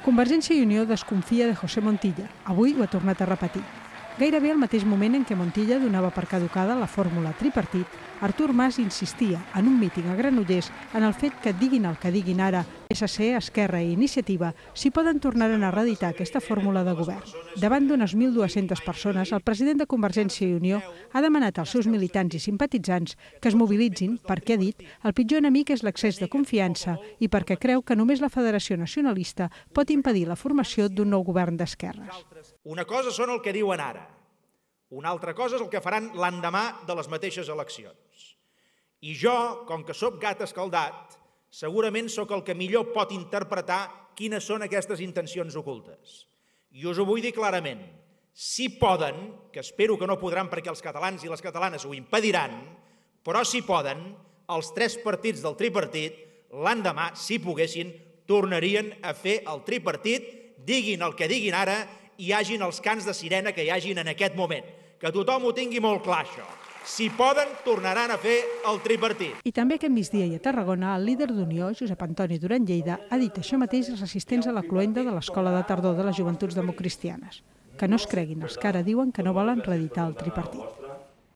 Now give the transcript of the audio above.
Convergència i Unió desconfia de José Montilla. Avui ho ha tornat a repetir. Gairebé al mateix moment en què Montilla donava per caducada la fórmula tripartit, Artur Mas insistia en un míting a Granollers en el fet que diguin el que diguin ara PSC, Esquerra i Iniciativa si poden tornar a reeditar aquesta fórmula de govern. Davant d'unes 1.200 persones, el president de Convergència i Unió ha demanat als seus militants i simpatitzants que es mobilitzin perquè, ha dit, el pitjor enemic és l'excés de confiança i perquè creu que només la Federació Nacionalista pot impedir la formació d'un nou govern d'esquerres. Una cosa són el que diuen ara, una altra cosa és el que faran l'endemà de les mateixes eleccions. I jo, com que sóc gat escaldat, segurament sóc el que millor pot interpretar quines són aquestes intencions ocultes. I us ho vull dir clarament, si poden, que espero que no podran perquè els catalans i les catalanes ho impediran, però si poden, els 3 partits del tripartit, l'endemà, si poguessin, tornarien a fer el tripartit, diguin el que diguin ara, hi hagin els cants de sirena que hi hagin en aquest moment. Que tothom ho tingui molt clar, això. Si poden, tornaran a fer el tripartit. I també aquest migdia i a Tarragona, el líder d'Unió, Josep Antoni Duran Lleida, ha dit això mateix als assistents a la cloenda de l'Escola de Tardor de les Joventuts Democristianes. Que no es creguin els que ara diuen que no volen reeditar el tripartit.